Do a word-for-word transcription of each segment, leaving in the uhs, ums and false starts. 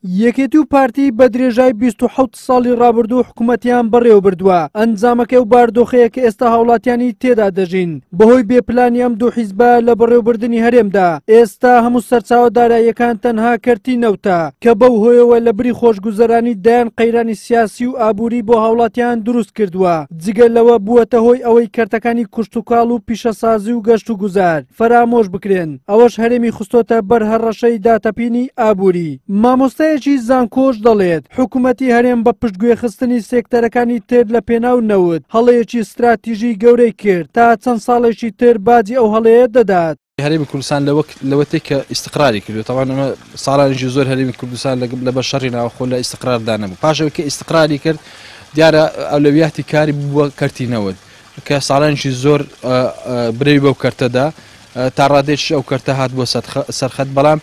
یەکێتی و پارتی بە درێژای بیست و حەوت ساڵی ڕابردوو حکوومەتیان بەڕێوە بردووە. ئەنجامەکەی و باردۆخەیە کە ئێستا هاوڵاتیانی تێدا دەژین بەهۆی بێپلانی ئەم دوو حیزبە لە بەڕێوەبردنی هەرێمدا. ئێستا هەموو سەرچاوە داراییەکان تەنها کەرتی نەوتە کە بەو هۆیەوە لە بری خۆشگوزەرانی دەیان قەیرانی سیاسی و ئابووری بۆ هاوڵاتیان دروست کردووە. جگە لەوە بووەتە هۆی ئەوەی کەرتەکانی کوشتوکاڵ و پیشەسازی و گەشت و گوزار فەرامۆش بکرێن. ئەوەش هەرێمی خستۆتە بەر هەڕەشەی داتەپینی ئابووری. مامۆستایەکی زانکۆش دەڵێت حکوومەتی هەرێم بە پشتگوێخستنی سێکتەرەکانی تر لە پێناو نەوت هەڵەیەکی ستراتیژی گەورەی کرد تا چەند ساڵێکی تر باجی ئەو هەڵەیە دەدات. هەرێمی کوردستان لەوەتێک کە ئیستقراری کردو، تەوان ئەمە ساڵانێکی زۆر هەرێمی کوردستان لە بە شەڕی ناوخۆ لە ئیستقراردا نەبوو. پاشەوەی کە ئیستقراری کرد دیارە ئەولەویاتی کاری بووە کەرتی نەوت کە ساڵانێکی زۆر برەوی بەو کەرتەدا تا ڕادێکی ئەو کەرتە هات بۆ سەرخەت، بەڵام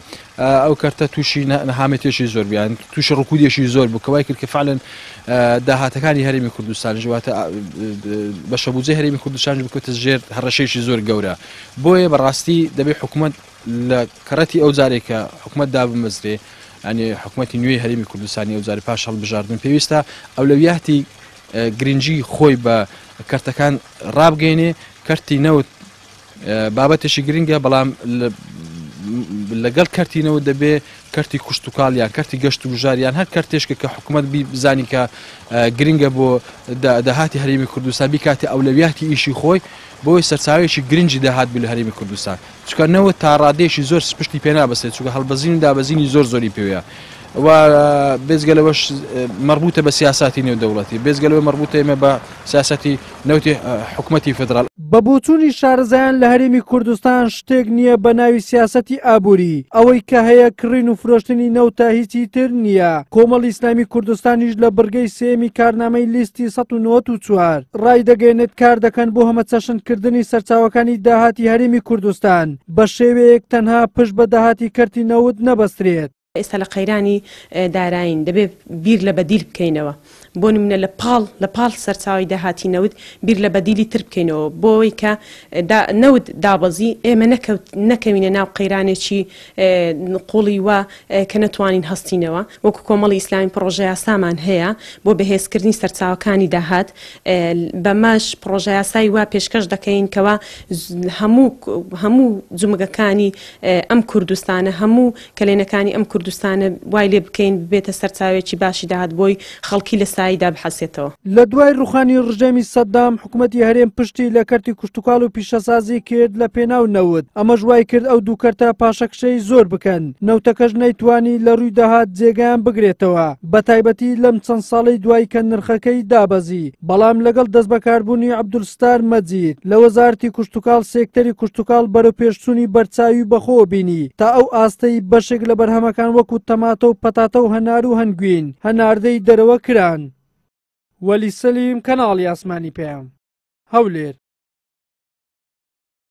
ئەو کەرتە تووشی نەهامەتێکی زۆر بیان تووشی ڕکوودێکی زۆر بوو کە وای کرد کە فعلەن داهاتەکانی هەرێمی کوردستان واتە بەشەبوجەی هەرێمی کوردستان بکەوتە ژێر هەڕەشەیەکی زۆر گەورە. بۆیە بەڕاستی دەبێت حکوومەت لە کەڕەتی ئەو جارێک کە حکوومەت دابمەزرێ، یعنی حکوومەتی نوێی هەرێمی کوردستانی ئەو جارێ پاش هەڵبژاردن پێویستە ئەولەویاتی گرنگی خۆی بە کەرتەکان ڕابگەینێ. کەرتی نەوت بابەتێکی گرنگە، بەڵام لەگەڵ کەرتی نەوت دەبێ کەرتی کوشتوکاڵ یان کەرتی گەشت و گوزار یان هەر کەرتێشکە کە حکوومەت بزانی کە گرنگە بۆ داهاتی هەرێمی کوردستان بیکاتێ ئەولەویاتی ئیشی خۆی بۆی سەرچاوەیەکی گرنگی داهات بوو لە هەرێمی کوردستان. چونکە نەوت تا ڕادەیەکی زۆر پشتی پێ نابەستێت، چونکە هەڵبەزین و دابەزینی زۆر زۆری پێوەیە و بێجگە لەوەش مەربوطە بە سیاساتی نێودەوڵەتی، بێجگە لەوە مەربوطە ئێمە بە سیاسەتی نەوتی حکوومەتی فیدراڵ. بە بۆچوونی شارەزایان لە هەرێمی کوردستان شتێک نییە بە ناوی سیاسەتی ئابووری، ئەوەی کە هەیە کڕین و فرۆشتنی نەوتە هیچی تر نییە. کۆمەڵی ئیسلامی کوردستانیش لە بڕگەی سێمی کارنامەی لیستی سەد و نەوەد و چوار ڕایدەگەیەنێت کار دەکەن بۆ هەمەچەشنکردنی سەرچاوەکانی داهاتی هەرێمی کوردستان بە شێوەیەک تەنها پشت بە داهاتی کەرتی نەوت نەبەسترێت. ئێستا لە قەیرانی دارایین دەبێت بیر لە بەدیل بکەینەوە، بۆ نمونە لە پاڵ لە پاڵ سەرچاوی داهاتی نەوت بیر لە بەدیلی تر بکەینەوە بۆ ئەوەی کە نەوت دابەزی ئێمە نەکەوینە ناو قەیرانێکی قوڵی وا کە نەتوانین هەستینەوە. وەکو کۆمەڵی ئیسلامی پڕۆژە یاسامان هەیە بۆ بەهێزکردنی سەرچاوەکانی داهات، بەمەش پڕۆژە یاسای وا پێشکەش دەکەین کەوا هەموو هەموو جومگەکانی ئەم کوردستانە، هەموو کەلێنەکانی ئەم کوردستانە وای لێ بکەین ببێتە سەرچاوێکی باشی داهات بۆی خەڵکی لە ساییدا بحەسێتەوە. لە دوای ڕوخانی ڕژێمی سەدام حکوومەتی هەرێم پشتی لە کەرتی کوشتوکاڵ و پیشەسازی کرد لە پێناو نەوت، ئەمەش وای کرد ئەو دوو کەرتە پاشەکشەی زۆر بکەن. نەوتەکەش نەیتوانی لە ڕووی داهات جێگایان بگرێتەوە، بە تایبەتی لەم چەند ساڵەی دوای کە نرخەکەی دابەزی. بەڵام لەگەڵ دەستبەکاربوونی عەبدولستار مەجید لە وەزارەتی کوشتوکاڵ سێکتەری کوشتوکاڵ بەرەو پێشچوونی بەرچاوی بەخۆوە بینی تا ئەو ئاستەی بەشێک لە بەرهەمەکان وەکو تەماتە و پەتاتە و هەنار و هەنگوین هەناردەی دەرەوە کران. وەلی سەلیم، کەناڵی ئاسمانی پەیام، هەولێر.